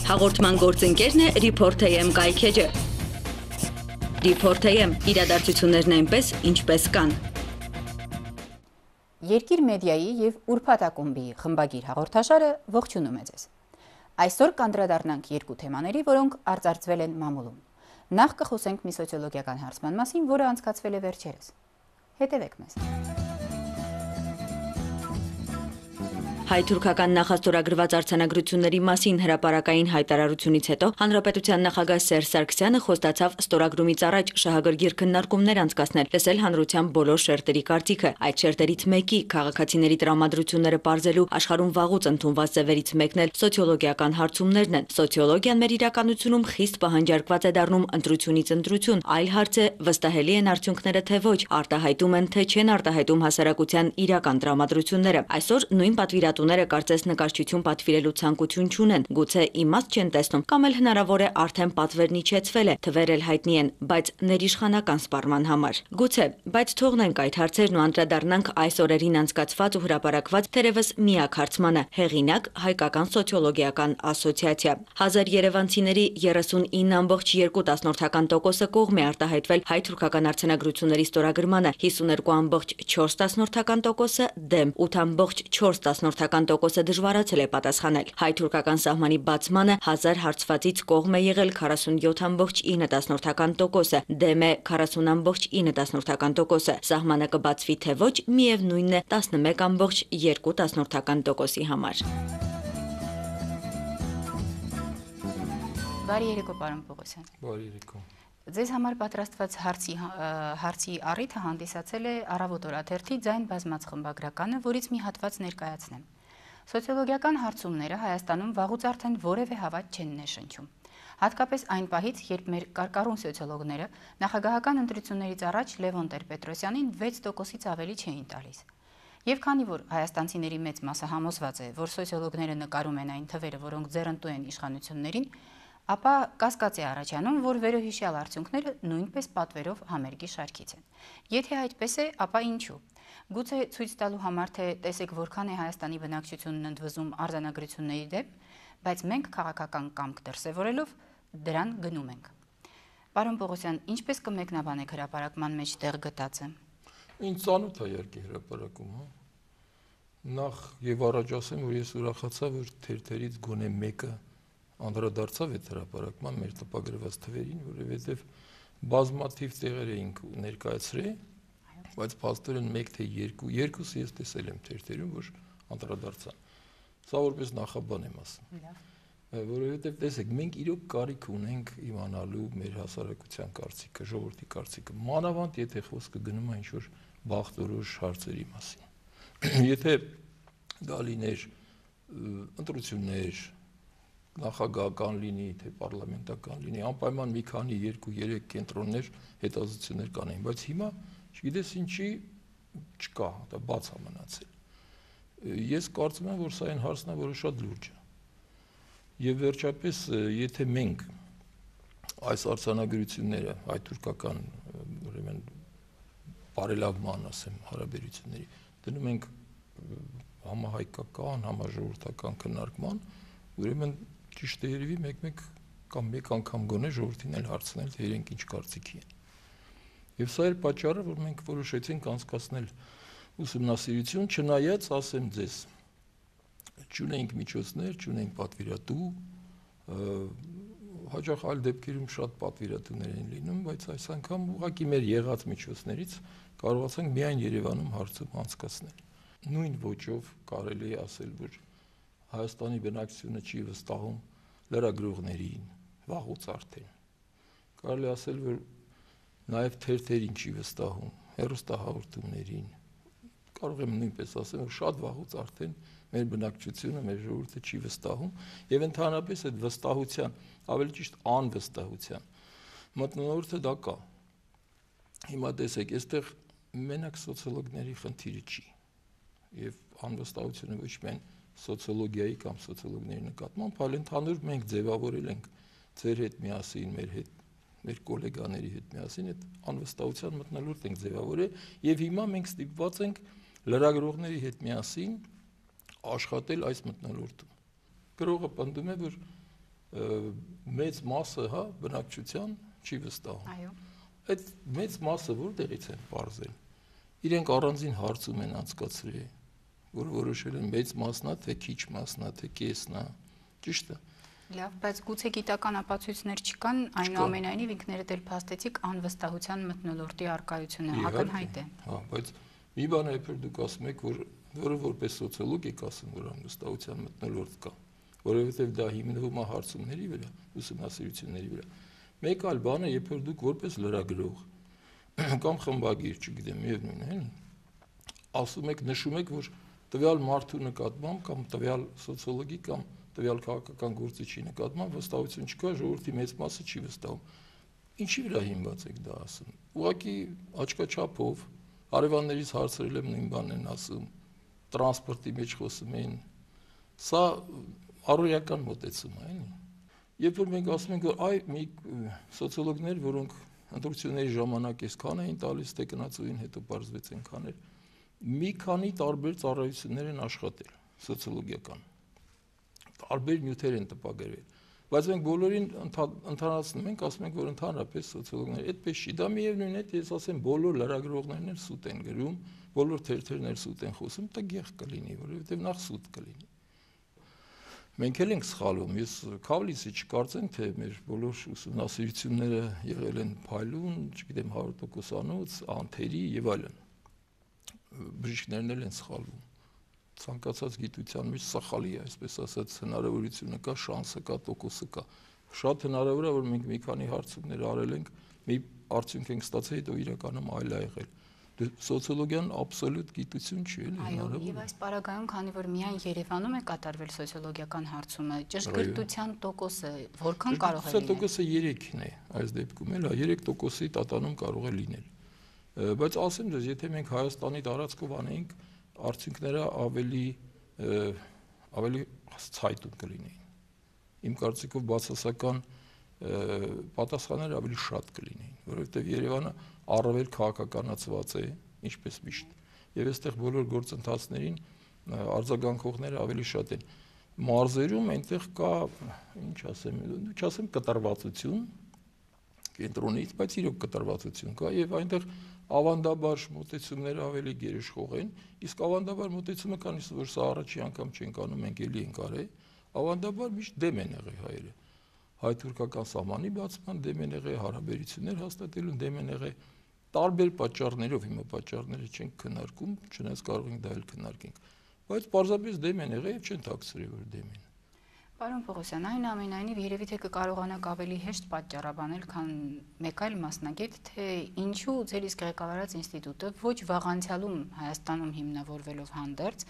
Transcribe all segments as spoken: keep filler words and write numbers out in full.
Հաղորդման գործընկերն է Report.am կայքեջը։ Report.am իրադարձություններն այնպես, ինչպես կան։ Երկիր մեդիայի և Ուրբաթ ակումբի խմբագիր հաղորդաշարը ողջունում է ձեզ։ Այսօր կանդրադառնանք երկու թեմաների, որոնք արծարծվել են մամուլում։ Նախ կխոսենք մի սոցիոլոգիական հարցման մասին, որը անցկացվել է վերջերս։ Հետևեք մեզ։ Հայ-թուրքական նախաստորագրված արձանագրությունների մասին հրապարակային հայտարարությունից հետո Հանրապետության նախագահ Սերժ Սարգսյանը խոստացավ ստորագրումից առաջ շահագրգիռ քննարկումներ անցկացնել, լսել հանրության բոլոր շերտերի կարծիքը։ Այդ շերտերից մեկի քաղաքացիների տրամադրությունները պարզելու աշխարհում վաղուց ընդունված ձևերից մեկն էլ սոցիոլոգիական հարցումներն են։ Սոցիոլոգիան մեր իրականությունում խիստ պահանջարկված է դառնում ընտրությունից ընտրություն, այլ հարց է վստահելի են արդյունքները թե ոչ, արտահայտում են թե չեն արտահայտում հասարակության իրական տրամադրությունները։ Այսօր նույն պատվիրատու Տուները կարծես նկարչություն պատվիրելու ցանկություն չունեն, գուցե իմաստ չեն տեսնում, կամ էլ հնարավոր է արդեն պատվերն իջեցվել է, թվեր էլ հայտնի են, բայց ներիշխանական սպառման համար։ Գուցե, բայց թողնենք այդ հարցերն ու անդրադառնանք այս օրերին անցկացված ու հրապարակված թերևս միակ հարցմանը՝ հեղինակ Հայկական սոցիոլոգիական ասոցիացիա։ Հազար երևանցիների երեսունինը ամբողջ երկու տասնորդական տոկոսը կողմ է արտահայտվել հայ-թուրքական արձանագրությունների ստորագրմանը, հիսուներկու ամբողջ չորս տասնորդական տոկոսը դեմ, ութ ամբողջ չորս տասնորդական տոկոսը դժվարացել է պատասխանել։ Հայ-թուրքական սահմանի բացմանը հազար հարցվածից կողմ է եղել քառասունյոթ ամբողջ ինը տասնորդական տոկոսը, դեմ է քառասուն ամբողջ ինը տասնորդական տոկոսը։ Սահմանը կբացվի թե ոչ, միևնույնն է տասնմեկ ամբողջ երկու տասնորդական տոկոսի համար։ Բարի երեկո, պարոն Պողոսյան։ Բարի երեկո։ Ձեզ համար պատրաստված հարցի հարցի առիթը հանդիսացել է Առավոտ օրաթերթի ձայն բազմաց խմբագրականը, որից մի հատված ներկայացնեմ։ Սոցիոլոգիական հարցումները Հայաստանում վաղուց արդեն որևէ հավատ չեն ներշնչում։ Հատկապես այն պահից, երբ մեր կարկառուն սոցիոլոգները նախագահական ընտրություններից առաջ Լևոն Տեր-Պետրոսյանին վեց տոկոսից ավելի չէին տալիս։ Եվ քանի որ հայաստանցիների մեծ մասը համոզված է, որ սոցիոլոգները նկարում են այն թվերը, որոնք ձեռնտու են իշխանություններին, ապա կասկած է առաջանում, որ վերոհիշյալ արդյունքները նույնպես պատվերով համերգի շարքից են։ Եթե այդպես է, ապա ինչու։ Գուցե ցույց տալու համար, թե տեսեք որքան է Հայաստանի բնակչությունն ընդվզում արձանագրությունների դեմ, բայց մենք քաղաքական կամք դրսևորելով դրան գնում ենք։ Պարոն Պողոսյան, ինչպես կմեկնաբանեք հրապարակման մեջ տեղ գտածը։ Ինչ ծանոթ է երկի հրապարակում, հա։ Նախ եւ առաջ ասեմ, որ ես ուրախացա, որ թերթերից գոնե մեկը անդրադարձավ այդ հրապարակման մեր տպագրված թվերին, որովհետև բազմաթիվ տեղեր էինք ներկայացրել, բայց փաստորեն մեկ թե երկու, երկուսը ես տեսել եմ թերթերում, որ անդրադարձան։ Սա որպես նախաբան եմ ասում։ Որովհետև տեսեք, մենք իրոք կարիք ունենք իմանալու մեր հասարակության կարծիքը, ժողովրդի կարծիքը, մանավանդ եթե խոսքը գնում է ինչ-որ բախտորոշ հարցերի մասին։ Եթե դա լիներ ընտրություններ, նախագահական լինի, թե պարլամենտական լինի, անպայման մի քանի երկու-երեք կենտրոններ հետազոտություններ կանեին, բայց հիմա չգիտես ինչի չկա, դա բաց է մնացել։ Ես կարծում եմ, որ սա այն հարցն է, որը շատ լուրջ է։ Եվ վերջապես, եթե մենք այս արձանագրությունները հայ-թուրքական, ուրեմն բարելավման, ասեմ, հարաբերությունների դնում ենք համահայկական, համաժողովրդական քննարկման, ուրեմն ճիշտ է երևի մեկ-մեկ կամ մեկ անգամ գոնե ժողովրդին էլ հարցնել, թե իրենք ինչ կարծիքի են։ Եվ սա էր պատճառը, որ մենք որոշեցինք անցկացնել ուսումնասիրություն, չնայած, ասեմ ձեզ, չունենք միջոցներ, չունենք պատվիրատու, հաճախ այլ դեպքերում շատ պատվիրատուներ են լինում, բայց այս անգամ ուղղակի մեր եղած միջոցներից կարողացանք միայն Երևանում հարցում անցկացնել։ Նույն ոճով կարելի է ասել, որ Հայաստանի բնակչությունը չի վստահում լրագրողներին, վաղուց արդեն։ Կարելի ասել, որ նաև թերթերին չի վստահում, հեռուստահաղորդումներին։ Կարող եմ նույնպես ասել, որ շատ վաղուց արդեն մեր բնակչությունը, մեր ժողովուրդը չի վստահում, եւ ընդհանրապես այդ վստահության, ավելի ճիշտ անվստահության մթնոլորտը դա կա։ Հիմա տեսեք, այստեղ մենակ սոցիոլոգների խնդիրը չի, եւ անվստահությունը ոչ միայն սոցիոլոգիայի կամ սոցիոլոգների նկատմամբ, այլ ընդհանուր մենք ձևավորել ենք ձեր հետ միասին, մեր հետ, մեր գոլեգաների հետ միասին այդ անվստահության մթնոլորտ ենք ձևավորել եւ հիմա մենք ստիպված ենք լրագրողների հետ միասին աշխատել այս մթնոլորտում։ Գրողը պնդում է, որ մեծ մասը, հա, բնակչության չի վստահում։ Այո։ Այդ մեծ մասը որտեղից են բարձել։ Իրենք առանձին հարցում են անցկացրել, որ որոշել են մեծ մասնա, թե քիչ մասնա, թե կեսնա, ճիշտ է։ Լավ, բայց գուցե գիտական ապացույցներ չկան, այնուամենայնիվ ինքներդ էլ փաստեցիք անվստահության մթնոլորտի առկայությունը ակնհայտ է։ Հա, բայց մի բան է, երբ դուք ասում եք, որ որը որպես սոցիոլոգ եք ասում, որ անվստահության մթնոլորտ կա, որովհետև դա հիմնվում է հարցումների վրա, ուսումնասիրությունների վրա։ Մեկ այլ բան է, երբ որ դուք որպես լրագրող կամ խմբագիր, չգիտեմ, միևնույն է, ասում եք, նշում եք, որ տվյալ մարդու նկատմամբ կամ տվյալ սոցիոլոգի կամ տվյալ քաղաքական գործիչի նկատմամբ վստահություն չկա, ժողովրդի մեծ մասը չի վստահում։ Ինչի վրա հիմնված եք դա ասում։ Ուղղակի աչքաչափով հարևաններից հարցրել եմ նույն բանն են ասում, տրանսպորտի մեջ խոսում էին։ Սա առօրյական մոտեցում է, էլի։ Երբ որ մենք ասում ենք, որ այ մի սոցիոլոգներ, որոնք ընտրությունների ժամանակ այսքան էին տալիս, թե գնացուին հետո բարձվեց այնքան էր, մի քանի տարբեր ծառայություններ են աշխատել սոցիոլոգիական։ Տարբեր նյութեր են տպագրվել, բայց մենք բոլորին ընդհանրացնում ենք, ասում ենք, որ ընդհանրապես սոցիոլոգները այդպես չի, դա միևնույն է, ես ասեմ, բոլոր լրագրողներն էլ սուտ են գրում, բոլոր թերթերն էլ սուտ են խոսում, տգեղ կլինի, որովհետև նախ սուտ կլինի։ Մենք էլ ենք սխալվում, ես քավլիսի չկարծեմ, թե մեր բոլոր ուսումնասիրությունները եղել են փայլուն, չգիտեմ, հարյուր տոկոսանոց, անթերի եւ այլն։ Բժիշկներն էլ են սխալվում։ Ցանկացած գիտության մեջ սխալի է, այսպես ասած, հնարավորությունը կա, շանսը կա, տոկոսը կա։ Շատ հնարավոր է, որ մենք մի քանի հարցումներ արել ենք, մի արդյունք ենք ստացել, հետո իրականում այլ է եղել։ Սոցիոլոգիան աբսոլյուտ գիտություն չի, էլի։ Այո, եւ այս պարագայում, քանի որ միայն Երևանում է կատարվել սոցիոլոգիական հարցումը, ճշգրտության տոկոսը որքան կարող է լինել։ Տոկոսը երեքն է, այս դեպքում էլ, երեք տոկոսի տատանում կարող է լինել։ Բայց ասեմ ձեզ, եթե մենք Հայաստանի տարածքով անեինք, արդյունքները ավելի ավելի ցայտուն կլինեին։ Իմ կարծիքով բացասական պատասխանները ավելի շատ կլինեին, որովհետև Երևանը առավել քաղաքականացված է, ինչպես միշտ, եւ այստեղ բոլոր գործընթացներին արձագանքողները ավելի շատ են։ Մարզերում այնտեղ կա, ինչ ասեմ, չասեմ կտրվածություն կենտրոնից, բայց իրոք կտրվածություն կա եւ այնտեղ ավանդաբար մոտեցումները ավելի գերիշխող են, իսկ ավանդաբար մոտեցումը քանից որ սա առաջի անգամ չենք անում, մենք էլի ենք արել, ավանդաբար միշտ դեմ են եղել հայերը։ Հայ-թուրքական սահմանի բացման դեմ են եղել, հարաբերություններ հաստատելուն դեմ են եղել, տարբեր պատճառներով, հիմա պատճառները չենք քննարկում, չնայած կարող ենք դա էլ քննարկենք, բայց պարզապես դեմ են եղել եւ չեն թաքցրել, որ դեմ են։ Պարոն Պողոսյան, այնուամենայնիվ երևի թե կկարողանաք ավելի հեշտ պատճառաբանել, քան մեկ այլ մասնագետ, թե ինչու ձեր իսկ ղեկավարած ինստիտուտը ոչ վաղանցյալում Հայաստանում հիմնավորվելով հանդերձ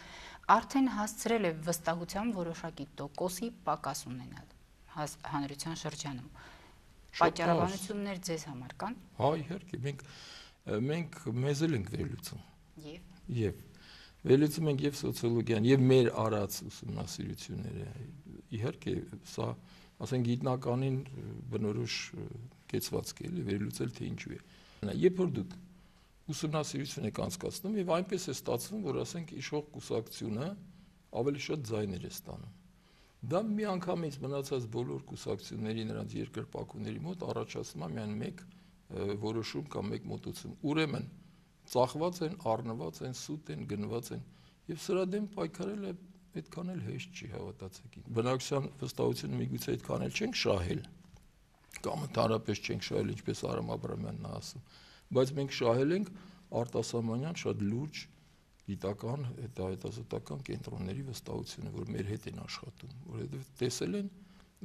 արդեն հասցրել է վստահության որոշակի տոկոսի պակաս ունենալ հանրության շրջանում։ Պատճառաբանություններ ձեզ համար կան։ Հա, իհարկե, մենք մենք մեզ էլ ենք վերլուծում։ Եվ Եվ վերլուծում ենք եւ սոցիոլոգիան, եւ մեր արած ուսումնասիրությունները։ Իհարկե, սա, ասենք, գիտնականին բնորոշ կեցվածք է, վերլուծել թե ինչու է։ Երբ որ դուք ուսումնասիրություն եք անցկացնում եւ այնպես է ստացվում, որ ասենք իշխող կուսակցությունը ավելի շատ ձայներ է ստանում։ Դա միանգամից մնացած բոլոր կուսակցությունների նրանց երկրպագուների մոտ առաջացնում է միայն մեկ որոշում կամ մեկ մոտեցում։ Ուրեմն ծախված են, առնված են, սուտ են, գնված են եւ սրա դեմ պայքարելը այդքան էլ հեշտ չի, հավատացեք ինձ։ Բնակչության վստահությունը միգուցե այդքան էլ չենք շահել կամ ընդհանրապես չենք շահել, ինչպես Արամ Աբրամյանն է ասում, բայց մենք շահել ենք արտասահմանյան շատ լուրջ գիտական, հետազոտական կենտրոնների վստահությունը, որ մեր հետ են աշխատում, որովհետև տեսել են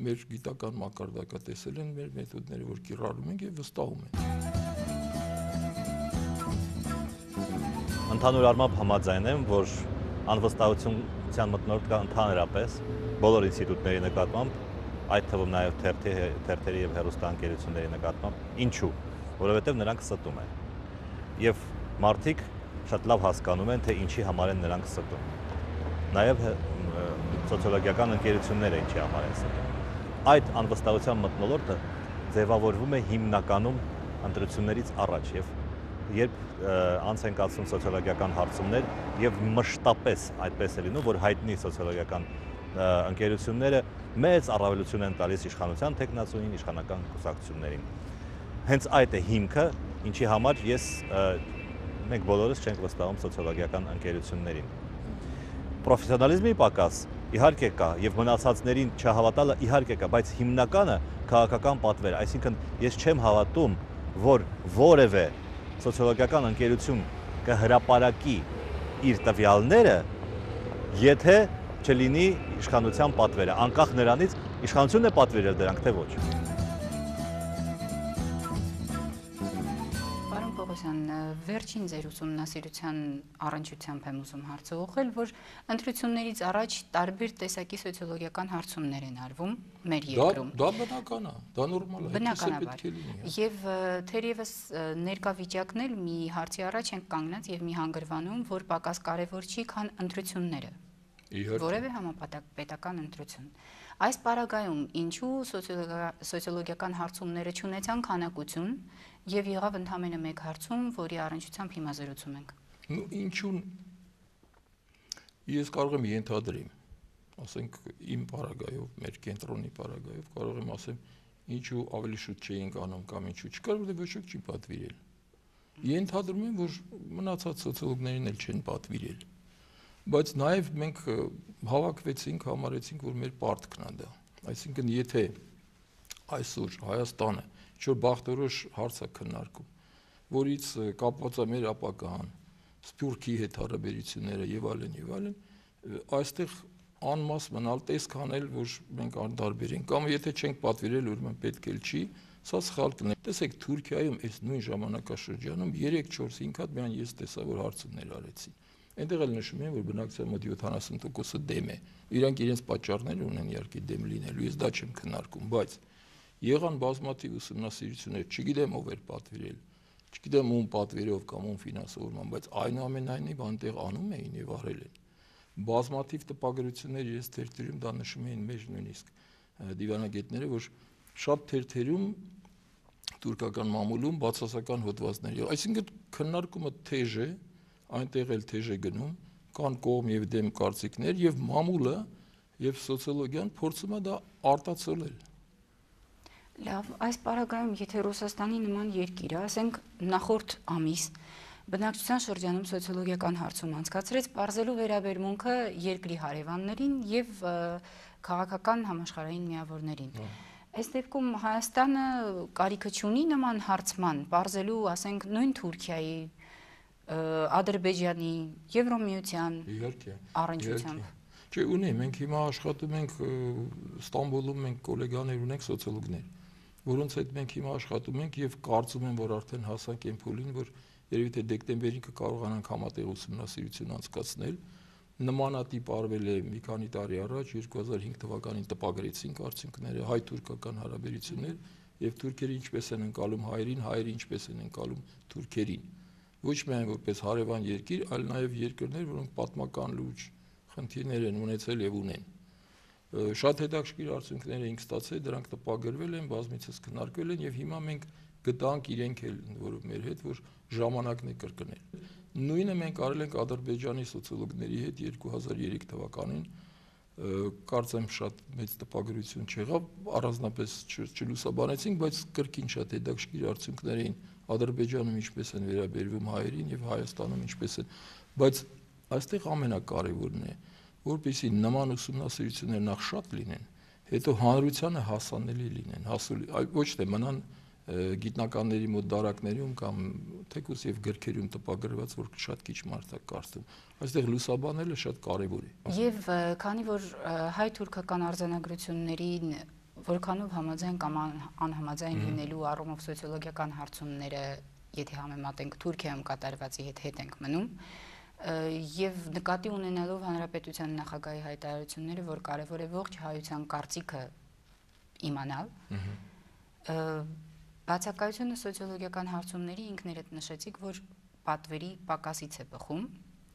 մեր գիտական մակարդակը, տեսել են մեր մեթոդները, որ կիրառում ենք եւ վստահում են։ Ընդհանուր առմամբ համաձայն եմ, որ անվստահության մթնոլորտ կա ընդհանրապես բոլոր ինստիտուտների նկատմամբ, այդ թվում նաև թերթի, թերթերի եւ հեռուստաընկերությունների նկատմամբ, ինչու, որովհետև նրանք ստում են։ Եվ մարդիկ շատ լավ հասկանում են, թե ինչի համար են նրանք ստում։ Նաև սոցիոլոգիական ընկերությունները ինչի համար են ստում։ Այդ անվստահության մթնոլորտը ձևավորվում է հիմնականում ընտրություններից առաջ եւ երբ անց են կացվում սոցիոլոգիական հարցումներ եւ մշտապես այդպես է լինում, որ հայտնի սոցիոլոգիական ընկերությունները մեծ առավելություն են տալիս իշխանության տեխնացուին, իշխանական կուսակցություններին։ Հենց այդ է հիմքը, ինչի համար ես մենք բոլորս չենք վստահում սոցիոլոգիական ընկերություններին։ Պրոֆեսիոնալիզմի պակաս իհարկե կա եւ մնացածներին չհավատալը իհարկե կա, բայց հիմնականը քաղաքական պատվեր, այսինքն ես չեմ հավատում, որ որևէ սոցիոլոգիական ընկերություն կհրապարակի իր տվյալները, եթե չլինի իշխանության պատվերը, անկախ նրանից իշխանությունն է պատվիրել դրանք, թե ոչ։ Պարոն Պողոսյան, վերջին ձեր ուսումնասիրության առնչությամբ եմ ուզում հարցը ուղղել, որ ընտրություններից առաջ տարբեր տեսակի սոցիոլոգիական հարցումներ են արվում մեր երկրում։ Դա բնական է, դա նորմալ է, Բնականաբար։ Եվ թերևս ներկա վիճակն էլ մի հարցի առաջ ենք կանգնած եւ մի հանգրվանում, որ պակաս կարևոր չի, քան ընտրությունները։ Որևէ համապետական ընտրություն։ Այս պարագայում ինչու սոցիոլոգիական հարցումները չունեցան քանակություն եւ եղավ ընդամենը մեկ հարցում, որի առնչությամբ հիմա զրուցում ենք։ Ну ինչու ես կարող եմ ենթադրեմ, ասենք իմ պարագայով, մեր կենտրոնի պարագայով կարող եմ ասեմ, ինչու ավելի շուտ չէինք անում կամ ինչու չկար, որտեղ ոչ ոք չի պատվիրել։ Ենթադրում եմ, որ մնացած սոցիոլոգներին էլ չեն պատվիրել։ Բայց նաև մենք հավաքվեցինք, համարեցինք, որ մեր պարտքն է դա։ Այսինքն, եթե այսօր Հայաստանը ինչ-որ բախտորոշ հարց է քննարկում, որից կապված է մեր ապագան, Սփյուռքի հետ հարաբերությունները եւ այլն եւ այլն, այստեղ անմաս մնալ տեսք անել, որ մենք անդարբեր ենք, կամ եթե չենք պատվիրել, ուրեմն պետք էլ չի, սա սխալ կլինի։ Տեսեք, Թուրքիայում այս նույն ժամանակաշրջանում երեք-չորս-հինգ հատ միայն ես տեսա, որ հարցումներ արեցին։ Այնտեղ էլ նշում են, որ բնակչության մոտ յոթանասուն տոկոսը դեմ է։ Իրանք իրենց պատճառներ ունեն իհարկե դեմ լինելու, ես դա չեմ քննարկում, բայց եղան բազմաթիվ ուսումնասիրություններ, չգիտեմ ով էր պատվիրել, չգիտեմ ում պատվերով կամ ում ֆինանսավորման, բայց այնուամենայնիվ այնտեղ անում էին եւ արել են։ Բազմաթիվ տպագրություններ ես թերթերում դա նշում էին մեր նույնիսկ դիվանագետները, որ շատ թերթերում թուրքական մամուլում բացասական հոդվածներ, այսինքն քննարկումը թեժ է, այնտեղ էլ թեժ է գնում, կան կողմ եւ դեմ կարծիքներ եւ մամուլը եւ սոցիոլոգիան փորձում է դա արտացոլել։ Լավ, այս պարագայում, եթե Ռուսաստանի նման երկիրը, ասենք նախորդ ամիս բնակչության շրջանում սոցիոլոգիական հարցում անցկացրեց, բարձելու վերաբերմունքը երկրի հարևաններին եւ քաղաքական համաշխարհային միավորներին։ Այս դեպքում Հայաստանը կարիքը չունի նման հարցման, բարձելու, ասենք, նույն Թուրքիայի, Ադրբեջանի, Եվրոմիության առնչությամբ։ Չէ, ունի, մենք հիմա աշխատում ենք Ստամբուլում, մենք գոլեգաներ ունենք սոցիոլոգներ, որոնց հետ մենք հիմա աշխատում ենք եւ կարծում եմ, որ արդեն հասանք այն փուլին, որ երևի թե դեկտեմբերին կկարողանանք համատեղ ուսումնասիրություն անցկացնել։ Նմանատիպ արվել է մի քանի տարի առաջ, երկու հազար հինգ թվականին տպագրեցինք արդյունքները, հայ-թուրքական հարաբերություններ եւ թուրքերը ինչպես են ընկալում հայերին, հայերը ինչպես են ընկալում թուրքերին։ Ոչ միայն որպես հարևան երկիր, այլ նաև երկրներ, որոնք պատմական լուրջ խնդիրներ են ունեցել եւ ունեն։ Շատ հետաքրքիր արդյունքներ էինք ստացել, դրանք տպագրվել են, բազմիցս քննարկվել են եւ հիմա մենք գտանք իրենք էլ, որ մեր հետ, որ ժամանակն է կրկնել։ Նույնը մենք արել ենք Ադրբեջանի սոցիոլոգների հետ երկու հազար երեք թվականին, կարծեմ շատ մեծ տպագրություն չեղավ, առանձնապես չլուսաբանեցինք, բայց կրկին շատ հետաքրքիր արդյունքներ էին Ադրբեջանում ինչպես են վերաբերվում հայերին եւ Հայաստանում ինչպես են, բայց այստեղ ամենակարևորն է, որպեսզի նման ուսումնասիրություններ նախ շատ լինեն, հետո հանրությանը հասանելի լինեն, հասու ոչ թե մնան գիտնականների մոտ դարակներում կամ թեկուզ եւ գրքերում տպագրված, որ շատ քիչ մարդ է կարծում։ Այստեղ լուսաբանելը շատ կարեւոր է։ Եվ քանի որ հայ-թուրքական արձանագրություններին որքանով համաձայն կամ անհամաձայն լինելու առումով սոցիոլոգիական հարցումները, եթե համեմատենք Թուրքիայում կատարվածի հետ հետ ենք մնում, եւ նկատի ունենալով հանրապետության նախագահի հայտարարությունները, որ կարեւոր է ողջ հայության կարծիքը իմանալ, բացակայությունը սոցիոլոգիական հարցումների ինքներդ նշեցիք, որ պատվերի պակասից է բխում։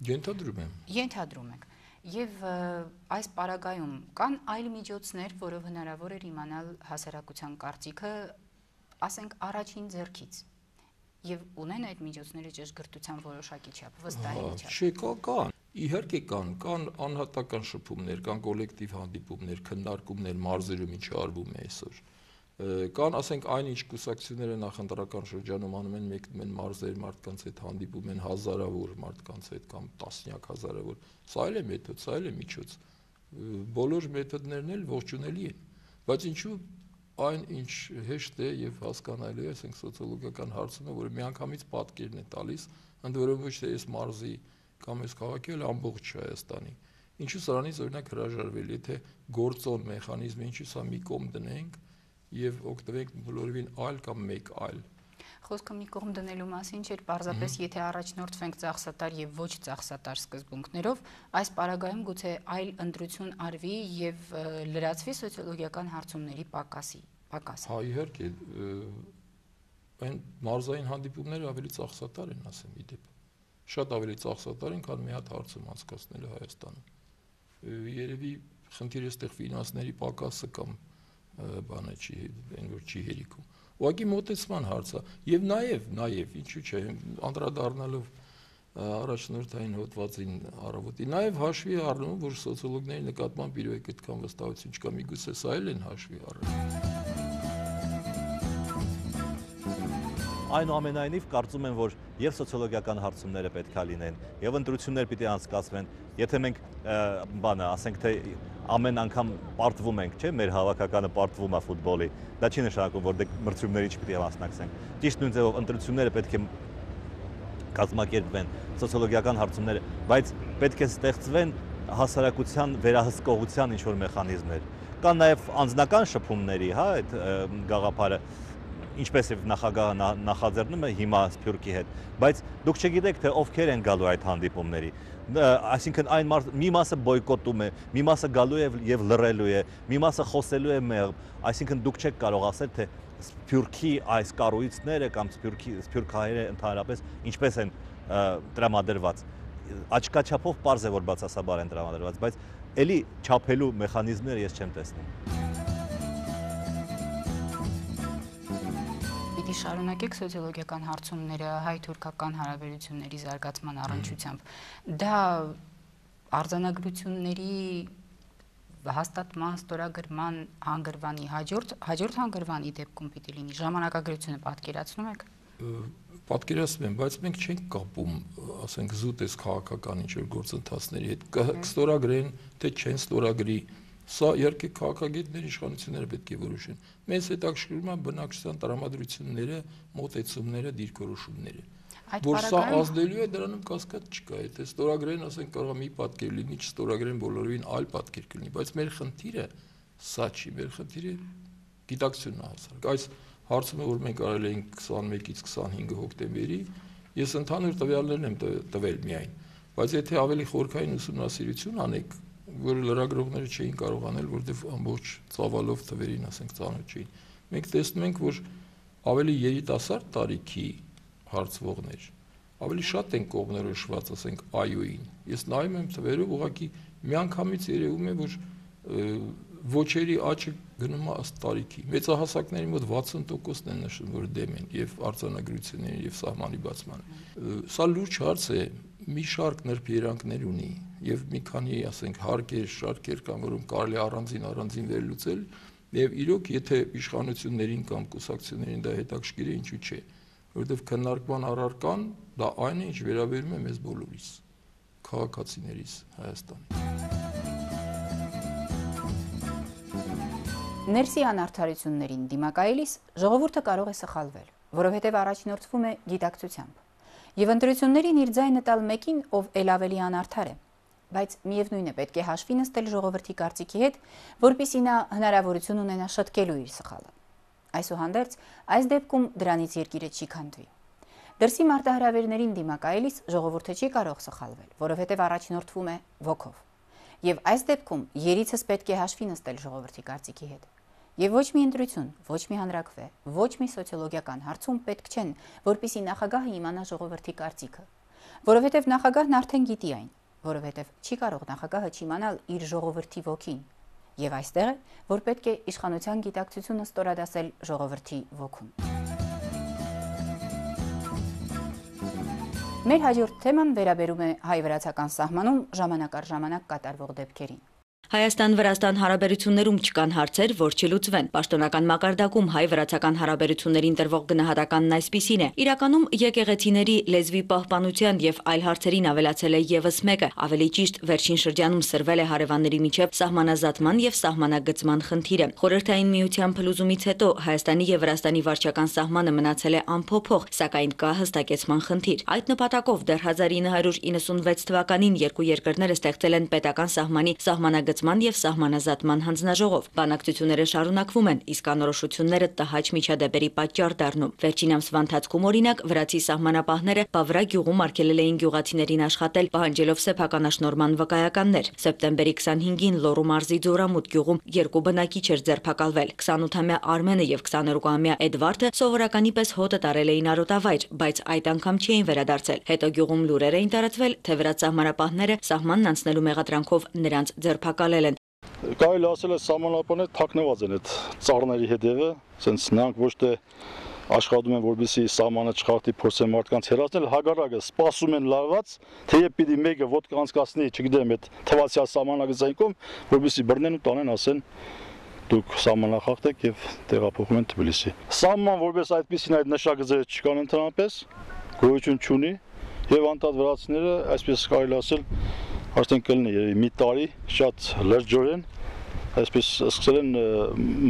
Ենթադրում եմ։ Ենթադրում եք։ Եվ այս պարագայում կան այլ միջոցներ, որով հնարավոր էր իմանալ հասարակության կարծիքը, ասենք առաջին ձեռքից, եւ ունեն այդ միջոցները ճշգրտության որոշակի չափ, վստահելի չափ։ Չէ, կա, կան։ Իհարկե կան, կան անհատական շփումներ, կան կոլեկտիվ հանդիպումներ, քննարկումներ մարզերում ինչ արվում է այսօր։ Կան, ասենք, այնինչ կուսակցությունները նախընտրական շրջանում անում են, մեկնում են մարզեր, մարդկանց հետ հանդիպում են հազարավոր մարդկանց հետ կամ տասնյակ հազարավոր։ Սա էլ է մեթոդ, սա էլ է միջոց։ Բոլոր մեթոդներն էլ ողջունելի են, բայց ինչու այն ինչ հեշտ է եւ հասկանալի է, ասենք, սոցիոլոգիական հարցում է, որը միանգամից պատկերն է տալիս, ընդ որում ոչ թե այս մարզի կամ այս քաղաքի, այլ ամբողջ Հայաստանի։ Ինչու սրանից օրինակ հրաժարվել, եթե գործոն մեխանիզմը ինչու սա մի կողմ դնենք եւ օգտվենք բոլորովին այլ կամ մեկ այլ։ Խոսքը մի կողմ դնելու մասին չէր, պարզապես եթե առաջնորդվենք ծախսատար եւ ոչ ծախսատար սկզբունքներով, այս պարագայում գուցե այլ ընտրություն արվի եւ լրացվի սոցիոլոգիական հարցումների պակասի, պակասը։ Հա, իհարկե, այն մարզային հանդիպումները ավելի ծախսատար են, ասեմ իդեպ։ Շատ ավելի ծախսատար են, քան մի հատ հարցում անցկացնելը Հայաստանում։ Երևի խնդիրը այստեղ ֆինանսների պակասը կամ բանը չի, այն որ չի հերիքում։ Ուղղակի մոտեցման հարց է, եւ նաեւ, նաեւ, ինչու՞ չէ, անդրադառնալով առաջնորդային հոդվածին առավոտի, նաեւ հաշվի առնում, որ սոցիոլոգների նկատմամբ իրոք այդքան վստահություն չկա, միգուցե սա էլ են հաշվի առնում։ Այնուամենայնիվ կարծում եմ, որ եւ սոցիոլոգիական հարցումները պետք է լինեն, եւ ընտրություններ պիտի անցկացվեն։ Եթե մենք բանը, ասենք թե ամեն անգամ պարտվում ենք, չէ՞, մեր հավաքականը պարտվում է ֆուտբոլի, դա չի նշանակում, որ դե մրցումների չպիտի մասնակցենք։ Ճիշտ նույն ձևով ընտրությունները պետք է կազմակերպվեն, սոցիոլոգիական հարցումները, բայց պետք է ստեղծվեն հասարակության վերահսկողության ինչ-որ մեխանիզմներ։ Կան նաեւ անձնական շփումների, հա, այդ գաղափարը, ինչպես եւ նախագահը նախաձեռնում է հիմա Սփյուռքի հետ, բայց դուք չգիտեք, թե ովքեր են գալու այդ հանդիպումների։ Այսինքն այն մի մասը բոյկոտում է, մի մասը գալու է եւ լռելու է, մի մասը խոսելու է մեղմ, այսինքն դուք չեք կարող ասել, թե Սփյուռքի այս կառույցները կամ Սփյուռքի Սփյուռքահայերը ընդհանրապես ինչպես են տրամադրված։ Աչքաչափով պարզ է, որ բացասաբար են տրամադրված, բայց էլի չափելու մեխանիզմները ես չեմ տեսնում։ Պիտի շարունակեք սոցիոլոգիական հարցումները հայ-թուրքական հարաբերությունների զարգացման առնչությամբ։ Դա արձանագրությունների հաստատման, ստորագրման հանգրվանի հաջորդ հաջորդ հանգրվանի դեպքում պիտի լինի, ժամանակագրությունը պատկերացնում եք։ Պատկերացնում եմ, բայց մենք չենք կապում, ասենք, զուտ այս քաղաքական ինչ-որ գործընթացների հետ, կստորագրեն, թե չեն ստորագրի, սա իհարկե քաղաքագետների իշխանությունները պետք է որոշեն։ Մեզ հետաքրքրում է բնակչության տրամադրությունները, մոտեցումները, դիրքորոշումները։ Որ սա ազդելու է, դրանում կասկած չկա, եթե ստորագրեն, ասենք, կարող է մի պատկեր լինի, չստորագրեն բոլորովին այլ պատկեր կլինի, բայց մեր խնդիրը սա չի, մեր խնդիրը գիտակցությունն է հասարակ։ Այս հարցումը, որ մենք արել էինք քսանմեկից քսանհինգ հոկտեմբերի, ես ընդհանուր տվյալներն եմ տվել միայն, բայց եթե ավելի խորքային ուսումնասիրություն անեք, որ լրագրողները չէին կարող անել, որտեղ ամբողջ ծավալով թվերին, ասենք, ծանոթ չէին, մենք տեսնում ենք, որ ավելի երիտասարդ տարիքի հարցվողներ ավելի շատ են կողմնորոշված, ասենք, այ-ին։ Ես նայում եմ թվերով, ուղղակի միանգամից երևում է, որ ոչերի աճը գնում է ըստ տարիքի։ Մեծահասակների մոտ վաթսուն տոկոսն են նշում, որ դեմ են եւ արձանագրությունների եւ սահմանի բացմանը։ Սա լուրջ հարց է, մի շարք նրբերանգներ ունի եւ մի քանի, ասենք, հարկեր, շարքեր կան, որոնք կարելի առանձին առանձին վերլուծել եւ իրոք, եթե իշխանություններին կամ կուսակցություններին դա հետաքրքիր է, ինչու՞ չէ, որովհետեւ քննարկման առարկան դա այն է, ինչ վերաբերում է մեզ բոլորիս, քաղաքացիներիս Հայաստանի։ Ներսի անարդարություններին դիմակայելիս ժողովուրդը կարող է սխալվել, որովհետև առաջնորդվում է գիտակցությամբ, եւ ընտրություններին իր ձայնը տալ մեկին, ով ել ավելի անարդար է, բայց միևնույն է պետք է հաշվի նստել ժողովրդի կարծիքի հետ, որպեսզի նա հնարավորություն ունենա շտկելու իր սխալը։ Այսուհանդերձ, այս դեպքում դրանից երկիրը չի քանդվի։ Դրսի մարտահրավերներին դիմակայելիս ժողովուրդը չի կարող սխալվել, որովհետև առաջնորդվում է ոգով։ Եվ այս դեպքում երիցս պետք է հաշվի նստել ժողովրդի կարծիքի հետ։ Եվ ոչ մի ընտրություն, ոչ մի հանրաքվե, ոչ մի սոցիոլոգիական հարցում պետք չեն, որպեսզի նախագահը իմանա ժողովրդի կարծիքը, որովհետև նախագահն արդեն գիտի այն, որովհետև չի կարող նախագահը չիմանալ իր ժողովրդի ոգին։ Եվ այստեղ է, որ պետք է իշխանության գիտակցությունը ստորադասել ժողովրդի ոգուն։ Մեր հաջորդ թեման վերաբերում է հայ-վրացական սահմանում ժամանակ առ ժամանակ կատարվող դեպքերին։ Հայաստան-Վրաստան հարաբերություններում չկան հարցեր, որ չլուծվեն։ Պաշտոնական մակարդակում հայ-վրացական հարաբերություններին տրվող գնահատականն այսպիսին է. իրականում եկեղեցիների լեզվի պահպանության եւ այլ հարցերին ավելացել է եւս մեկը, ավելի ճիշտ վերջին շրջանում սրվել է հարևանների միջև սահմանազատման եւ սահմանագծման խնդիրը։ Խորհրդային միության փլուզումից հետո Հայաստանի եւ Վրաստանի վարչական սահմանը մնացել է անփոփոխ, սակայն կա հստակեցման խնդիր։ Այդ նպատակով դեռ հազար ինը հարյուր իննսունվեց թվականին երկու երկրները ստեղծել են պետական սահմանի սահմանագծման եւ սահմանազատման հանձնաժողով։ Բանակցությունները շարունակվում են, իսկ անորոշությունները տհաճ միջադեպերի պատճառ դառնում։ Վերջին ամսվա ընթացքում օրինակ վրացի սահմանապահները Բավրա գյուղում արգելել էին գյուղացիներին աշխատել, պահանջելով սեփականաշնորհման վկայականներ։ Սեպտեմբերի քսանհինգին Լոռու մարզի Ձորամուտ գյուղում երկու բնակիչ էր ձերբակալվել։ քսանութամյա Արմենը եւ քսաներկուամյա Էդվարդը սովորականի պես հոտը տարել էին արոտավայր, բայց այդ անգամ չէին վերադարձել։ Հետո գյուղում լուրեր էին տարածվել, թե վրաց սահմանապահները սահմանն անցնելու մեղադրանքով նրանց ձերբակալել են։ Կարելի ասել է սահմանապահները թաքնված են այդ ծառների հետևը, ասենց նրանք ոչ թե աշխատում են, որպեսզի սահմանը չխախտի, փորձեն մարդկանց հեռացնել, հակառակը սպասում են լարված, թեև պիտի մեկը ոտք անցկացնի, չգիտեմ, այդ թվացյալ սահմանագծային կողմ, որպեսզի բռնեն ու տանեն, ասեն դուք սահմանախախտ եք եւ տեղափոխում են Թբիլիսի։ Սահման որպես այդպեսին այդ նշագծերը չկան ընդհանրապես, գոյություն չունի եւ անդադ վրացիները, այսպես կարելի ասել, արդեն կլինի երևի մի տարի շատ լրջորեն, այսպես սկսել են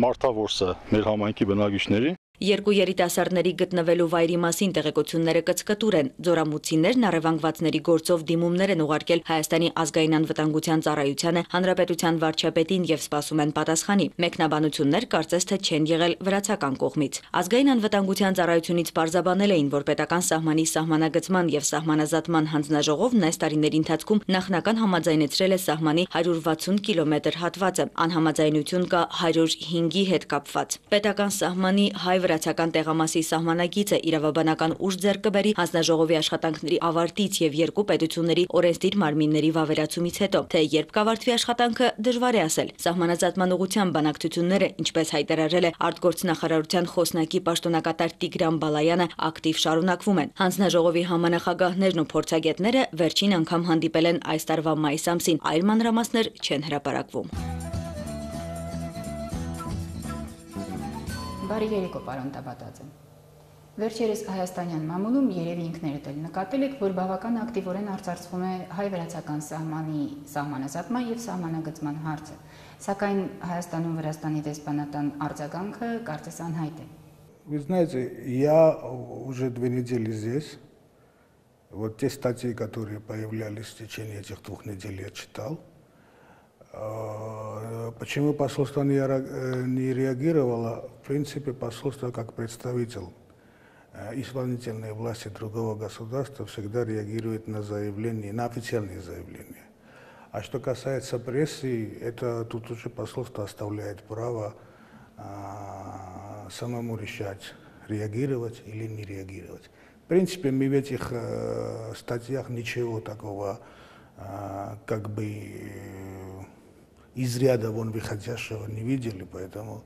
մարտավորսը մեր համայնքի բնակիչների։ Երկու երիտասարդների գտնվելու վայրի մասին տեղեկությունները կցկտուր են։ Ձորամուտցիներն առևանգվածների գործով դիմումներ են ուղարկել Հայաստանի ազգային անվտանգության ծառայությանը, հանրապետության վարչապետին եւ սպասում են պատասխանի։ Մեկնաբանություններ կարծես թե չեն եղել վրացական կողմից։ Ազգային անվտանգության ծառայությունից պարզաբանել էին, որ պետական սահմանի սահմանագծման եւ սահմանազատման հանձնաժողովն այս տարիների ընթացքում նախնական համաձայնեցրել է սահմանի հարյուր վաթսուն կիլոմետր հատվածը։ Անհամաձայնություն կա հարյուր հինգի հետ կապված։ Պետական սահմանի հայ վրացական տեղամասի սահմանագիծը իրավաբանական ուժ ձեռք կբերի հանձնաժողովի աշխատանքների ավարտից եւ երկու պետությունների օրենսդիր մարմինների վավերացումից հետո, թե երբ կավարտվի աշխատանքը դժվար է ասել։ Սահմանազատման ուղղության բանակցությունները, ինչպես հայտարարել է արտգործնախարարության խոսնակի պաշտոնակատար Տիգրան Բալայանը, ակտիվ շարունակվում են։ Հանձնաժողովի համանախագահներն ու փորձագետները վերջին անգամ հանդիպել են այս տարվա մայիս ամսին, այլ մանրամասներ չեն հրապարակվում։ Բարի երեկո, պարոն Տաբատաձե։ Վերջերս հայաստանյան մամուլում երևի ինքներդ էլ նկատել եք, որ բավական ակտիվորեն արծարծվում է հայ-վրացական սահմանի սահմանազատման եւ сահմանագծման հարցը, сакայն Հայաստանում Վրաստանի դեսպանատան արձագանքը կարծես անհայտ է։ Вы знаете, я уже две недели здесь. Вот те статьи, которые появлялись в течение этих двух недель, я читал. Почему посольство не реагировало? В принципе, посольство как представитель исполнительной власти другого государства всегда реагирует на заявления, на официальные заявления. А что касается прессы, это тут уже посольство оставляет право а, самому решать, реагировать или не реагировать. В принципе, мы в этих э, статьях ничего такого э, как бы э, из ряда вон выходящего не видели, поэтому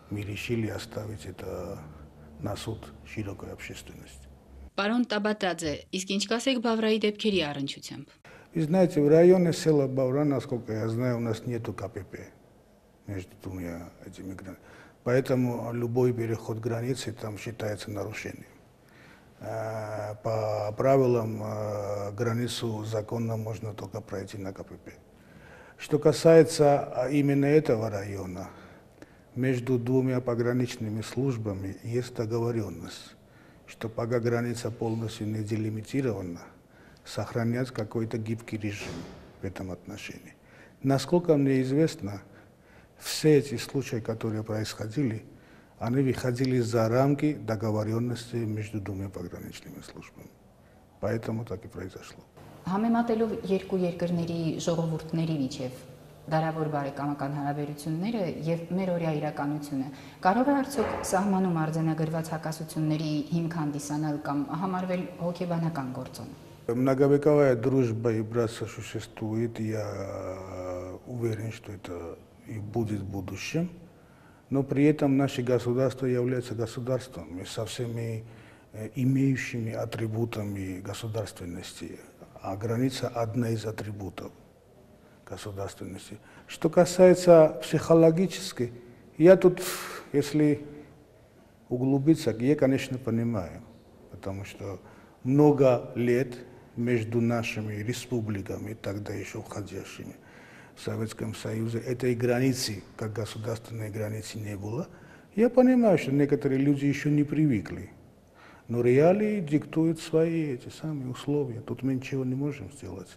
мы решили оставить это на суд широкой общественности. Պարոն Տաբատաձե, իսկ ինչ կասեք Բավրայի դեպքերի առնչությամբ։ Вы знаете, в районе села Бавра, насколько я знаю, у нас нету КПП между двумя этими границами. Поэтому любой переход границы там считается нарушением. По правилам границу законно можно только пройти на КПП. Что касается именно этого района, между двумя пограничными службами есть договоренность, что пока граница полностью не делимитирована, сохранять какой-то гибкий режим в этом отношении. Насколько мне известно, все эти случаи, которые происходили, они выходили за рамки договоренности между двумя пограничными службами. Поэтому так и произошло. Համեմատելով երկու երկրների ժողովուրդների միջև դարավոր բարեկամական հարաբերությունները եւ մեր օրյա իրականությունը, կարող է արդյոք սահմանում արձանագրված հակասությունների հիմք հանդիսանալ կամ համարվել հոգեբանական գործոն։ Многовековая дружба и братство существует, я уверен, что это и будет в будущем, но при этом наше государство является государством, и со всеми имеющими атрибутами государственности, а граница одна из атрибутов государственности. Что касается психологической, я тут, если углубиться, я, конечно, понимаю, потому что много лет между нашими республиками, тогда еще входящими в Советском Союзе, этой границы, как государственной границы, не было. Я понимаю, что некоторые люди еще не привыкли, но реалии диктуют свои эти самые условия. Тут мы ничего не можем сделать.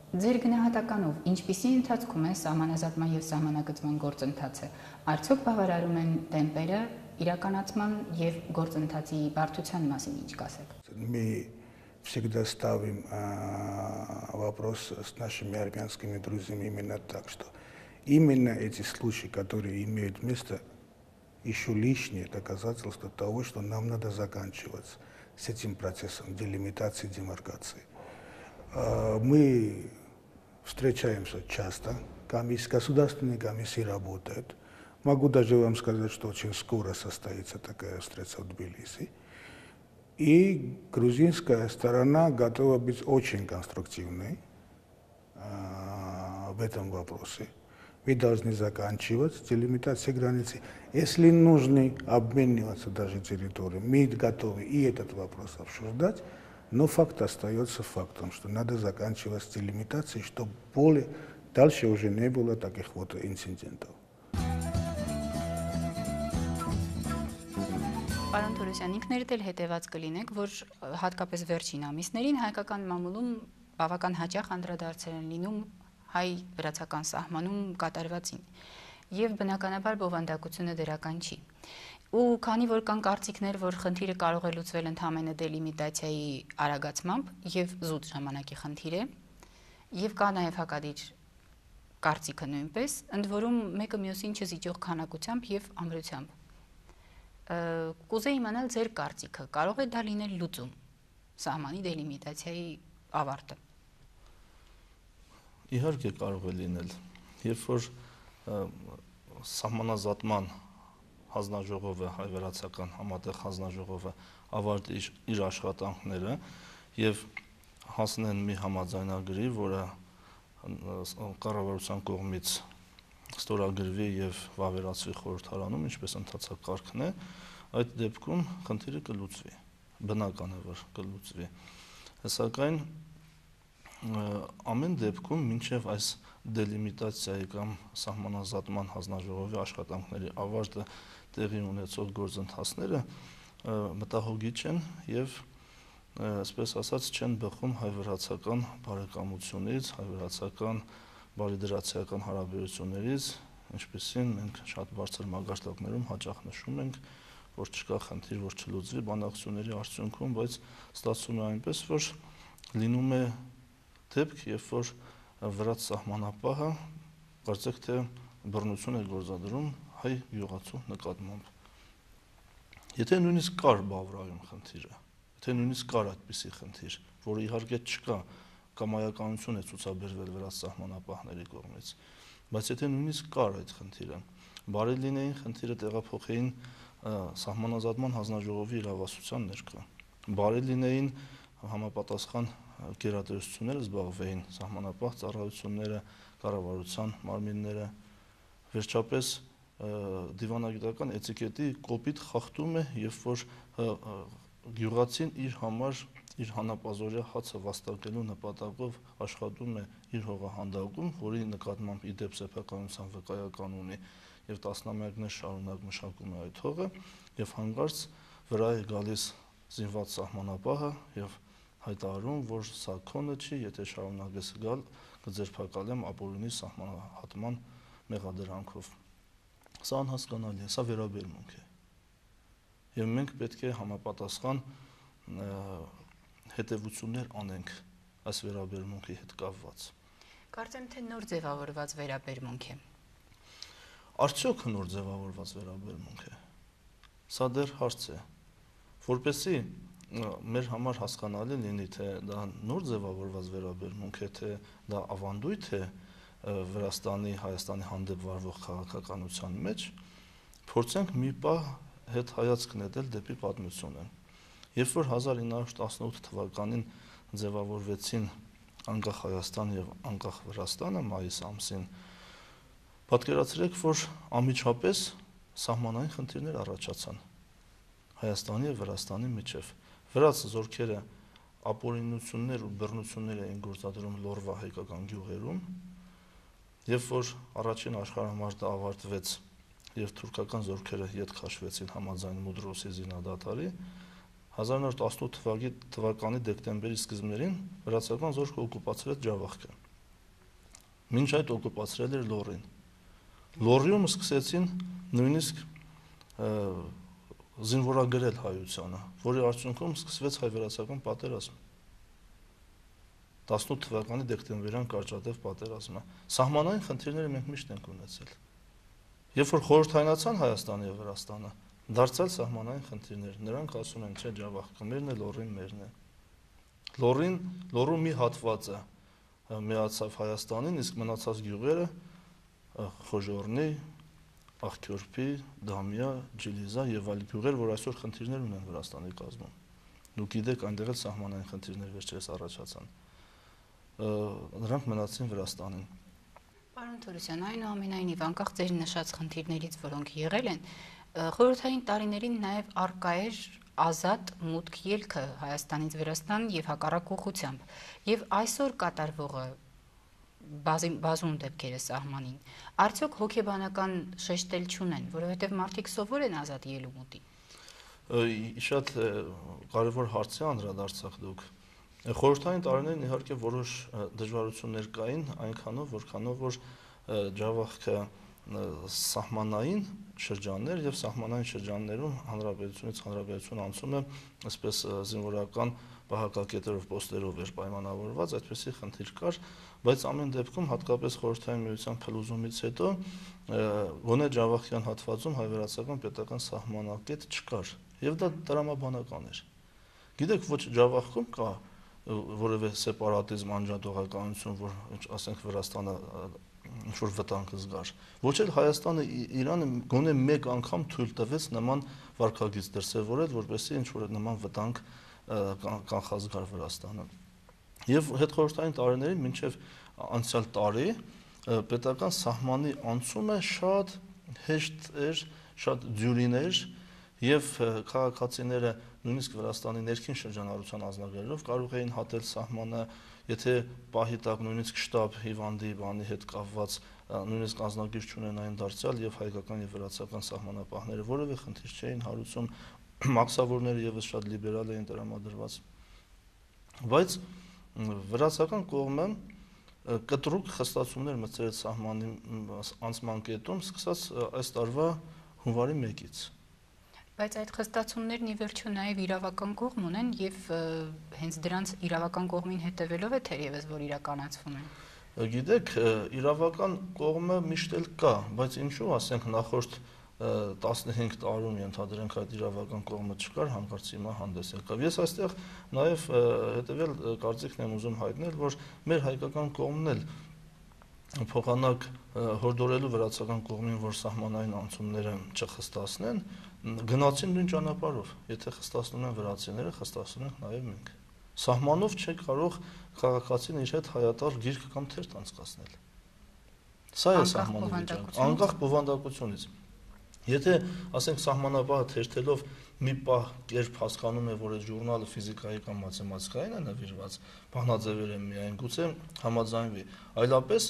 Ձեր գնահատականով ինչպիսի ընթացքում է սահմանազատման եւ սահմանագծման գործընթացը, արդյոք բավարարում են տեմպերը իրականացման եւ գործընթացի բարդության մասին ինչ կասեք։ Мы всегда ставим а, вопрос с нашими армянскими друзьями именно так, что именно эти случаи, которые имеют место, еще лишнее доказательство того, что нам надо заканчивать с этим процессом делимитации, демаркации. А, мы встречаемся часто, комиссии, государственные комиссии работают. Могу даже вам сказать, что очень скоро состоится такая встреча в Тбилиси. И грузинская сторона готова быть очень конструктивной а, в этом вопросе. Вы должны заканчивать делимитацию границы. Если нужно обмениваться даже территорией, мы готовы и этот вопрос обсуждать, но факт остается фактом, что надо заканчивать с делимитацией, чтобы более дальше уже не было таких вот инцидентов. Պարոն Թորոսյան, ինքներդ էլ հետևած կլինեք, որ հատկապես վերջին ամիսներին հայկական մամուլում բավական հաճախ անդրադարձեր են լինում հայ-վրացական սահմանում կատարվածին, եւ բնականաբար բովանդակությունը դրական չի։ Ու քանի որ կան կարծիքներ, որ խնդիրը կարող է լուծվել ընդհանրապես դելիմիտացիայի արագացմամբ եւ զուտ ժամանակի խնդիր է, եւ կա նաեւ հակադիր կարծիքը նույնպես, ընդ որում մեկը մյուսին չզիջող քանակությամբ եւ ամրությամբ։ Կուզեի իմանալ ձեր կարծիքը, կարող է դա լինել լուծում սահմանի դելիմիտացիայի ավարտը։ Իհարկե կարող է լինել, երբ որ սահմանազատման հանձնաժողովը, հայ-վրացական համատեղ հանձնաժողովը ավարտի իր աշխատանքները եւ հասնեն մի համաձայնագրի, որը կառավարության կողմից ստորագրվի եւ վավերացվի խորհրդարանում, ինչպես ընթացակ կարգն է, այդ դեպքում խնդիրը կլուծվի, բնական է որ կլուծվի։ Սակայն ամեն դեպքում մինչև այս դելիմիտացիայի կամ սահմանազատման հանձնաժողովի աշխատանքների ավարտը տեղի ունեցող գործընթացները մտահոգիչ են եւ այսպես ասած չեն բխում հայ-վրացական բարեկամությունից, հայ-վրացական բարիդրացիական հարաբերություններից, ինչպեսին մենք շատ բարձր մագարտակներում հաճախ նշում ենք, որ չկա խնդիր, որ չլուծվի բանակցությունների արդյունքում, բայց ստացվում է այնպես, որ լինում է դեպք, երբ որ վրաց սահմանապահը կարծեք թե բռնություն է գործադրում հայ գյուղացու նկատմամբ։ Եթե նույնիսկ կար Բավրայում խնդիրը, եթե նույնիսկ կար այդպիսի խնդիր, որը իհարկե չկա, կամայականություն է ցուցաբերվել վրաց սահմանապահների կողմից, բայց եթե նույնիսկ կար այդ խնդիրը, բարի լինեին խնդիրը տեղափոխեին սահմանազատման հանձնաժողովի իրավասության ներքո, բարի լինեին համապատասխան գերատեսչությունները զբաղվեին, սահմանապահ ծառայությունները, կառավարության մարմինները, վերջապես դիվանագիտական էտիկետի կոպիտ խախտում է, երբ որ գյուղացին իր համար իր հանապազորյա հացը վաստակելու նպատակով աշխատում է իր հողահանդակում, որի նկատմամբ ի դեպ սեփականության վկայական ունի եւ տասնամյակներ շարունակ մշակում է այդ հողը եւ հանկարծ վրա է գալիս զինված սահմանապահը եւ հայտարարում, որ սա քոնը չի, եթե շարունակես գալ, կձերբակալեմ ապօրինի սահմանահատման մեղադրանքով։ Սա անհասկանալի է, սա վերաբերմունք է։ Եվ մենք պետք է համապատասխան հետևություններ անենք այս վերաբերմունքի հետ կապված։ Կարծեմ թե նոր ձևավորված վերաբերմունք է։ Արդյոք նոր ձևավորված վերաբերմունք է։ Սա դեռ հարց է, որպեսզի մեր համար հասկանալի լինի, թե դա նոր ձևավորված վերաբերմունք է, թե դա ավանդույթ է Վրաստանի, Հայաստանի հանդեպ վարվող քաղաքականության մեջ, փորձենք մի պահ հետ հայացք նետել դեպի պատմությունը։ Երբ որ հազար ինը հարյուր տասնութ թվականին ձևավորվեցին անկախ Հայաստան եւ անկախ Վրաստանը մայիս ամսին, պատկերացրեք, որ անմիջապես սահմանային խնդիրներ առաջացան Հայաստանի եւ Վրաստանի միջև։ Վրաց զորքերը ապօրինություններ ու բռնություններ էին գործադրում Լոռվա հայկական գյուղերում, երբ որ առաջին աշխարհամարտը ավարտվեց եւ թուրքական զորքերը ետ քաշվեցին համաձայն Մուդրոսի զինադատարի, հազար ինը հարյուր տասնութ թվականի դեկտեմբերի սկզբներին վրացական զորքը օկուպացրեց Ջավախքը։ Մինչ այդ օկուպացրել էր Լոռին։ Լոռիում սկսեցին նույնիսկ զինվորագրել հայությանը, որի արդյունքում սկսվեց հայ-վրացական պատերազմ։ տասնութ թվականի դեկտեմբերյան կարճատև պատերազմը։ Սահմանային խնդիրները մենք միշտ ենք ունեցել։ Երբ որ խորհրդայնացան Հայաստանը եւ Վրաստանը, դարձյալ սահմանային խնդիրներ, նրանք ասում են, չէ, Ջավախքը մերն է, Լոռին մերն է։ Լոռին, Լոռու մի հատվածը միացավ Հայաստանին, իսկ մնացած գյուղերը Խոժոռնի, Աղքյորփի, Դամիա, Ջիլիզա եւ այլ գյուղեր, որ այսօր խնդիրներ ունեն Վրաստանի կազմում։ Դուք գիտեք, այնտեղ էլ սահմանային խնդիրներ վերջերս առաջացան։ Նրանք մնացին Վրաստանին։ Պարոն Թորոսյան, այնուամենայնիվ անկախ ձեր նշած խնդիրներից, որոնք եղել են, խորհրդային տարիներին նաև արկա էր ազատ մուտք ելքը Հայաստանից Վրաստան եւ հակառակ ուղղությամբ, եւ այսօր կատարվողը բազում դեպքերը սահմանին, արդյոք հոգեբանական շեշտել չունեն, որովհետև մարդիկ սովոր են ազատ ելումուտի։ Շատ կարևոր հարց է անդրադարձակ դուք։ Խորհրդային տարիներին իհարկե որոշ դժվարություններ կային, այնքանով, որքանով որ Ջավախքը սահմանային շրջաններ եւ սահմանային շրջաններում հանրապետությունից հանրապետություն անցում է այսպես զինվորական պահակակետերով պոստերով էր պայմանավորված, այդպեսի խնդիր կար, բայց ամեն դեպքում հատկապես խորհրդային միության փլուզումից հետո գոնե Ջավախյան հատվածում հայ-վրացական պետական սահմանակետ չկար եւ դա տրամաբանական էր։ Գիտեք, ոչ Ջավախքում կա որևէ սեպարատիզմ անջատողականություն, որ ասենք Վրաստանը ինչ-որ վտանգ զգար։ Ոչ էլ Հայաստանը Իրանը գոնե մեկ անգամ թույլ տվեց նման վարքագիծ դրսևորել, որպեսզի ինչ-որ նման վտանգ կանխազգար Վրաստանը։ Եվ հետխորհրդային տարիներին մինչև անցյալ տարի պետական սահմանի անցումը շատ հեշտ էր, շատ դյուրին էր եւ քաղաքացիները նույնիսկ Վրաստանի ներքին շրջանառության ազնագրերով կարող էին հատել սահմանը, եթե պահի տակ նույնիսկ շտաբ հիվանդի բանի հետ կապված նույնիսկ ազնագիր չունենային դարձյալ եւ հայկական եւ վրացական սահմանապահները որևէ խնդիր չէին հարուցում, մաքսավորները եւս շատ լիբերալ էին տրամադրված։ Բայց վրացական կողմը կտրուկ խստացումներ մտցրեց սահմանի անցման կետում, սկսած այս տարվա հունվարի մեկից։ Բայց այդ խստացումներն ի վերջո նաև իրավական կողմ ունեն եւ հենց դրանց իրավական կողմին հետևելով է թերևս որ իրականացվում են։ Գիտեք, իրավական կողմը միշտ էլ կա, բայց ինչու, ասենք նախորդ տասնհինգ տարում ենթադրենք այդ իրավական կողմը չկար, հանկարծ հիմա հանդես եկավ։ Ես այստեղ նաև հետևել կարծիքն եմ ուզում հայտնել, որ մեր հայկական կողմն էլ փոխանակ հորդորելու վրացական կողմին, որ սահմանային անցումները չխստացնեն, գնացին նույն ճանապարհով։ Եթե խստացնում են վրացիները, խստացնում ենք նաև մենք։ Սահմանով չէ կարող քաղաքացին իր հետ հայատար գիրք կամ թերթ անցկացնել։ Սա է սահմանի վիճակը, անկախ բովանդակությունից։ Եթե, ասենք, սահմանապահը թերթելով մի պահ կերպ հասկանում է, որ այդ ժուրնալը ֆիզիկայի կամ մաթեմատիկային է նվիրված, բանաձևեր են միայն, գուցե համաձայնվի, այլապես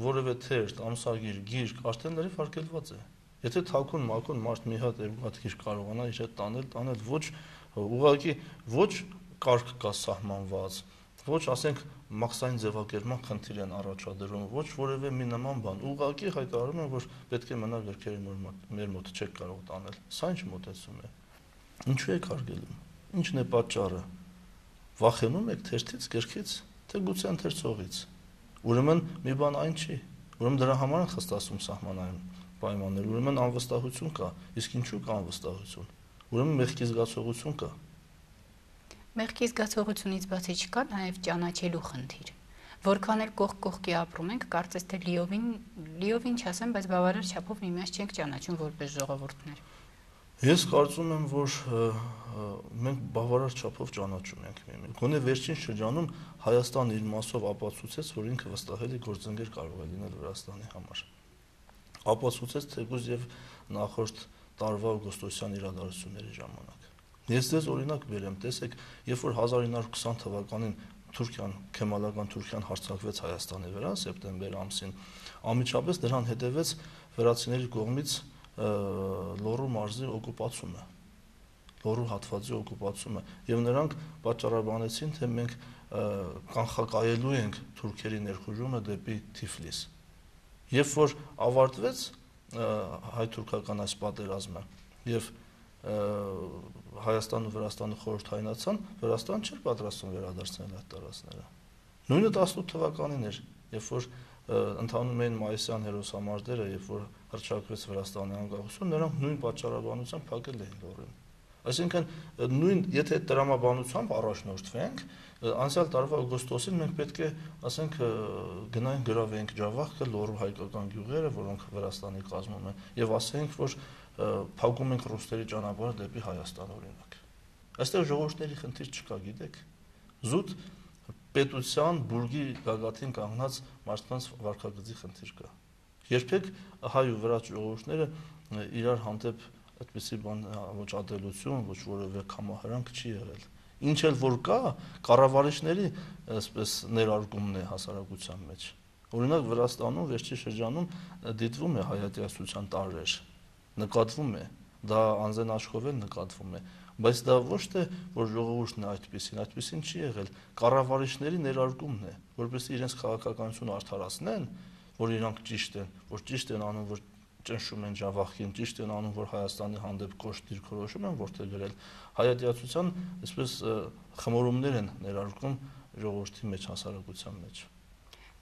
որևէ թերթ, ամսագիր, գիրք արդեն լրիվ արգելված է։ Եթե թաքուն մաքուն մարդ մի հատ եւ հատ գիրք կարողանա իր հետ տանել, տանել ոչ ուղղակի ոչ կարգ կա սահմանված, ոչ ասենք մաքսային ձևակերպման խնդիր են առաջադրում, ոչ որևէ մի նման բան։ Ուղղակի հայտարարում են, որ պետք է մնա գրքերը մեր մոտ չեք կարող տանել։ Սա ինչ մոտեցում է։ Ինչու եք արգելում։ Ինչն է պատճառը։ Վախենում եք թերթից, գրքից, թե գուցե ընթերցողից։ Ուրեմն մի բան այն չի։ Ուրեմն դրա համար են խստացում սահմանային պայմաններ, ուրեմն անվստահություն կա, իսկ ինչու կա անվստահություն։ Ուրեմն մեղքի զգացողություն կա։ Մեղքի զգացողությունից բացի չկա նաև ճանաչելու խնդիր։ Որքան էլ կողք կողքի ապրում ենք, կարծես թե լիովին լիովին չասեմ, բայց բավարար չափով միմյանց չենք ճանաչում որպես ժողովուրդներ։ Ես կարծում եմ, որ մենք բավարար չափով ճանաչում ենք միմին։ Գոնե վերջին շրջանում Հայաստանը իր մասով ապացուցեց, որ ինքը վստահելի գործընկեր կարող է լինել Վրաստանի համար։ Ապացուցեց թեկուզ եւ նախորդ տարվա օգոստոսյան իրադարձությունների ժամանակ։ Ես ձեզ օրինակ բերեմ, տեսեք, երբ որ հազար ինը հարյուր քսան թվականին Թուրքիան, Քեմալական Թուրքիան հարձակվեց Հայաստանի վրա սեպտեմբեր ամսին, անմիջապես դրան հետևեց վրացիների կողմից Լոռու մարզի օկուպացումը, Լոռու հատվածի օկուպացումը, եւ նրանք պատճառաբանեցին, թե մենք կանխակայելու ենք թուրքերի ներխուժումը դեպի Թիֆլիս։ Երբ որ ավարտվեց հայ-թուրքական այս պատերազմը եւ Հայաստանը ու Վրաստանը խորհրդայնացան, Վրաստանը չէր պատրաստվում վերադարձնել այդ տարածքները։ Նույնը տասնութ թվականին էր, երբ որ ընդհանում էին մայիսյան հերոսամարտերը, երբ որ հռչակվեց Վրաստանի անկախություն, նրանք նույն պատճառաբանությամբ փակել էին Լոռին։ Այսինքն նույն, եթե այդ տրամաբանությամբ առաջնորդվենք, անցյալ տարվա օգոստոսին մենք պետք է, ասենք, գնայինք գրավեինք Ջավախքը, Լոռու հայկական գյուղերը, որոնք Վրաստանի կազմում են, եւ ասեինք, որ փակում ենք ռուսների ճանապարհը դեպի Հայաստան օրինակ։ Այստեղ ժողովուրդների խնդիր չկա, գիտեք։ Զուտ պետության բուրգի գագաթին կանգնած մարդկանց վարքագծի խնդիր կա։ Երբեք հայ ու վրաց ժողովուրդները իրար հանդեպ այդպիսի բան ոչ ադելություն, ոչ որևէ կամահարանք չի եղել։ Ինչ էլ որ կա, կառավարիչների այսպես ներարկումն է հասարակության մեջ։ Օրինակ Վրաստանում վերջի շրջանում դիտվում է հայատյացության տարրեր, նկատվում է, դա անձեն աշխով էլ նկատվում է, բայց դա ոչ թե որ ժողովուրդն է այդպեսին, այդպեսին չի եղել, կառավարիչների ներարկումն է, որպեսզի իրենց քաղաքականությունը արդարացնեն, որ իրանք ճիշտ են, որ ճիշտ են անում, որ ճնշում են Ջավախին, ճիշտ են անում, որ Հայաստանի հանդեպ կոշտ դիրքորոշում են որտեղ գրել, հայատյացության այսպես խմորումներ են ներարկում ժողովրդի մեջ, հասարակության մեջ։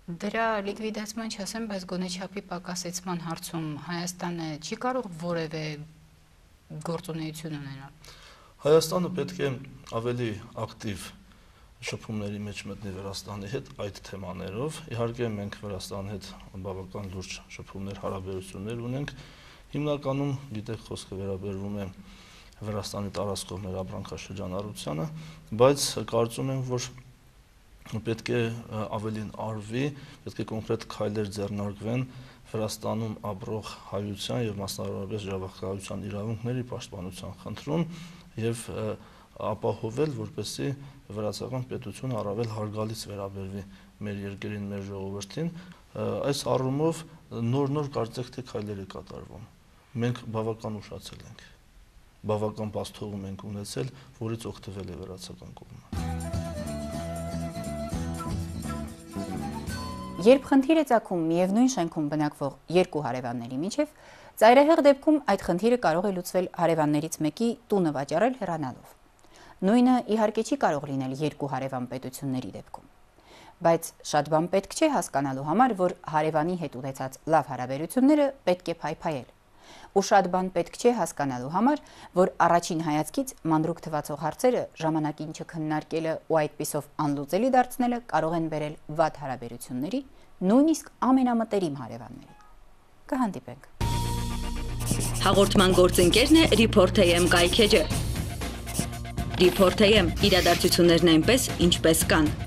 Դրա լիկվիդացման չասեմ, բայց գոնե չափի պակասեցման հարցում Հայաստանը չի կարող որևէ գործունեություն ունենալ։ Հայաստանը պետք է ավելի ակտիվ շփումների մեջ մտնի Վրաստանի հետ այդ թեմաներով։ Իհարկե մենք Վրաստանի հետ բավական լուրջ շփումներ, հարաբերություններ ունենք։ Հիմնականում, գիտեք, խոսքը վերաբերվում է Վրաստանի տարածքով մեր ապրանքաշրջանառությանը, բայց կարծում եմ, որ պետք է ավելին արվի, պետք է կոնկրետ քայլեր ձեռնարկվեն Վրաստանում ապրող հայության եւ մասնավորապես ժողովրդական իրավունքների պաշտպանության խնդրում եւ ապահովել, որպեսզի վրացական պետությունը առավել հարգալից վերաբերվի մեր երկրին, մեր ժողովրդին, այս առումով նոր-նոր կարծեք թե քայլեր է կատարվում։ Մենք բավական ուշացել ենք, բավական բացթողում ենք ունեցել, որից օգտվել է վրացական կողմը։ Երբ խնդիր է ծագում միևնույն շենքում բնակվող երկու հարևանների միջև, ծայրահեղ դեպքում այդ խնդիրը կարող է լուծվել հարևաններից մեկի տունը վաճառել հեռանալով։ Նույնը իհարկե չի կարող լինել երկու հարևան պետությունների դեպքում։ Բայց շատ բան պետք չէ հասկանալու համար, որ հարևանի հետ ունեցած լավ հարաբերությունները պետք է փայփայել։ Ու շատ բան պետք չէ հասկանալու համար, որ առաջին հայացքից մանրուք թվացող հարցերը ժամանակին չքննարկելը ու այդպիսով անլուծելի դարձնելը կարող են բերել վատ հարաբերությունների, նույնիսկ ամենամտերիմ հարևանների։ Կհանդիպենք։ Հաղորդման գործընկերն է Report.am կայքեջը։ Report.am իրադարձություններն այնպես, ինչպես կան։